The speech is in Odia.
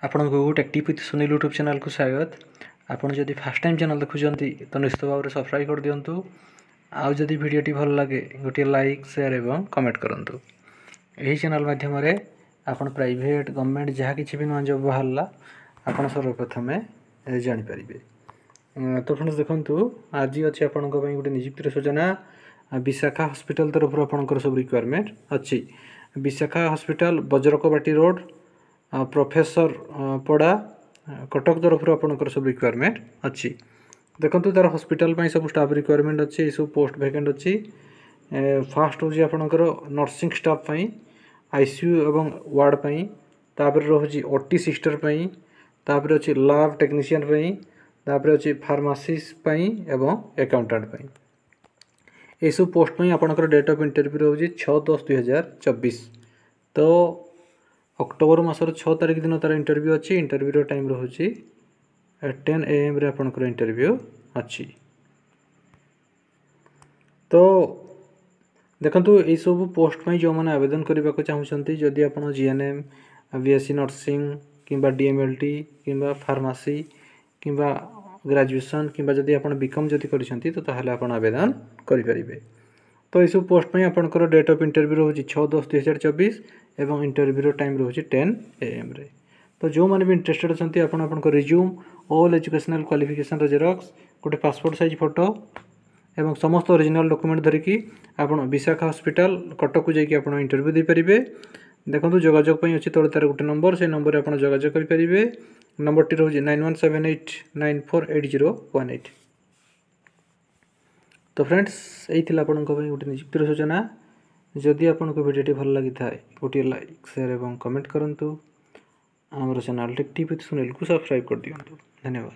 ଆପଣଙ୍କୁ tech tip with Sunil YouTube ଚ୍ୟାନେଲ୍କୁ ସ୍ୱାଗତ। ଆପଣ ଯଦି ଫାର୍ଷ୍ଟ ଟାଇମ୍ ଚ୍ୟାନେଲ୍ ଦେଖୁଛନ୍ତି, ତ ନିଶ୍ଚିତ ଭାବରେ ସବସ୍କ୍ରାଇବ୍ କରିଦିଅନ୍ତୁ। ଆଉ ଯଦି ଭିଡ଼ିଓଟି ଭଲ ଲାଗେ, ଗୋଟିଏ ଲାଇକ୍, ସେୟାର ଏବଂ କମେଣ୍ଟ କରନ୍ତୁ। ଏହି ଚ୍ୟାନେଲ୍ ମାଧ୍ୟମରେ ଆପଣ ପ୍ରାଇଭେଟ୍, ଗଭର୍ଣ୍ଣମେଣ୍ଟ ଯାହା କିଛି ବି ନୂଆ ଜବ୍ ବାହାରିଲା, ଆପଣ ସର୍ବପ୍ରଥମେ ଜାଣିପାରିବେ। ତ ଫ୍ରେଣ୍ଡସ୍, ଦେଖନ୍ତୁ, ଆଜି ଅଛି ଆପଣଙ୍କ ପାଇଁ ଗୋଟେ ନିଯୁକ୍ତିର ସୂଚନା। ବିଶାଖା ହସ୍ପିଟାଲ ତରଫରୁ ଆପଣଙ୍କର ସବୁ ରିକ୍ୱାରମେଣ୍ଟ ଅଛି। Bishakha hospital, Bajrakabati road, professor Pada, Cuttack ତରଫରୁ ଆପଣଙ୍କର ସବୁ ରିକ୍ୱାରମେଣ୍ଟ ଅଛି। ଦେଖନ୍ତୁ, ତା'ର ହସ୍ପିଟାଲ ପାଇଁ ସବୁ ଷ୍ଟାଫ୍ ରିକ୍ୱାରମେଣ୍ଟ ଅଛି। ଏସବୁ ପୋଷ୍ଟ ଭ୍ୟାକେଣ୍ଟ ଅଛି। ଫାଷ୍ଟ ହେଉଛି ଆପଣଙ୍କର ନର୍ସିଂ ଷ୍ଟାଫ୍ ପାଇଁ, ଆଇସିୟୁ ଏବଂ ୱାର୍ଡ଼ ପାଇଁ। ତାପରେ ରହୁଛି ଓଟି ସିଷ୍ଟର ପାଇଁ, ତାପରେ ଅଛି ଲାବ୍ ଟେକ୍ନିସିଆନ୍ ପାଇଁ, ତାପରେ ଅଛି ଫାର୍ମାସିଷ୍ଟ ପାଇଁ ଏବଂ ଆକାଉଣ୍ଟାଣ୍ଟ ପାଇଁ। ଏସବୁ ପୋଷ୍ଟ ପାଇଁ ଆପଣଙ୍କର ଡେଟ୍ ଅଫ୍ ଇଣ୍ଟରଭ୍ୟୁ ରହୁଛି 6/10/2024। ତ ଅକ୍ଟୋବର ମାସର 6 ତାରିଖ ଦିନ ତା'ର ଇଣ୍ଟରଭ୍ୟୁ ଅଛି। ଇଣ୍ଟରଭ୍ୟୁର ଟାଇମ୍ ରହୁଛି 10 ଏଏମ୍ରେ ଆପଣଙ୍କର ଇଣ୍ଟରଭ୍ୟୁ ଅଛି। ତ ଦେଖନ୍ତୁ, ଏଇସବୁ ପୋଷ୍ଟ ପାଇଁ ଯେଉଁମାନେ ଆବେଦନ କରିବାକୁ ଚାହୁଁଛନ୍ତି, ଯଦି ଆପଣ ଜିଏନ୍ଏମ୍, ବିଏସ୍ସି ନର୍ସିଂ କିମ୍ବା ଡିଏମ୍ଏଲ୍ଟି କିମ୍ବା ଫାର୍ମାସି କିମ୍ବା ଗ୍ରାଜୁଏସନ୍ କିମ୍ବା ଯଦି ଆପଣ ବିକମ୍ ଯଦି କରିଛନ୍ତି, ତ ତାହେଲେ ଆପଣ ଆବେଦନ କରିପାରିବେ। ତ ଏଇସବୁ ପୋଷ୍ଟ ପାଇଁ ଆପଣଙ୍କର ଡେଟ୍ ଅଫ୍ ଇଣ୍ଟରଭ୍ୟୁ ରହୁଛି 6/10/2024 ଏବଂ ଇଣ୍ଟରଭ୍ୟୁର ଟାଇମ୍ ରହୁଛି 10 ଏଏମ୍ରେ। ତ ଯେଉଁମାନେ ବି ଇଣ୍ଟରେଷ୍ଟେଡ଼ ଅଛନ୍ତି, ଆପଣ ଆପଣଙ୍କ ରିଜ୍ୟୁମ୍, ଅଲ୍ ଏଜୁକେସନାଲ୍ କ୍ୱାଲିଫିକେସନ୍ର ଜେରକ୍ସ, ଗୋଟେ ପାସପୋର୍ଟ ସାଇଜ୍ ଫଟୋ ଏବଂ ସମସ୍ତ ଅରିଜିନାଲ୍ ଡକୁମେଣ୍ଟ ଧରିକି ଆପଣ ବିଶାଖା ହସ୍ପିଟାଲ, କଟକକୁ ଯାଇକି ଆପଣ ଇଣ୍ଟରଭ୍ୟୁ ଦେଇପାରିବେ। ଦେଖନ୍ତୁ, ଯୋଗାଯୋଗ ପାଇଁ ଅଛି ତଳେ ତା'ର ଗୋଟେ ନମ୍ବର। ସେଇ ନମ୍ବରରେ ଆପଣ ଯୋଗାଯୋଗ କରିପାରିବେ। ନମ୍ବରଟି ରହୁଛି 9178948018। ତ ଫ୍ରେଣ୍ଡସ୍, ଏଇ ଥିଲା ଆପଣଙ୍କ ପାଇଁ ଗୋଟେ ନିଯୁକ୍ତିର ସୂଚନା। ଯଦି ଆପଣଙ୍କୁ ଭିଡ଼ିଓଟି ଭଲ ଲାଗିଥାଏ, ଗୋଟିଏ ଲାଇକ୍, ସେୟାର ଏବଂ କମେଣ୍ଟ କରନ୍ତୁ। ଆମର ଚ୍ୟାନେଲ୍ ଟେକ୍ ଟିପ୍ ୱିଥ୍ ସୁନୀଲକୁ ସବସ୍କ୍ରାଇବ୍ କରିଦିଅନ୍ତୁ। ଧନ୍ୟବାଦ।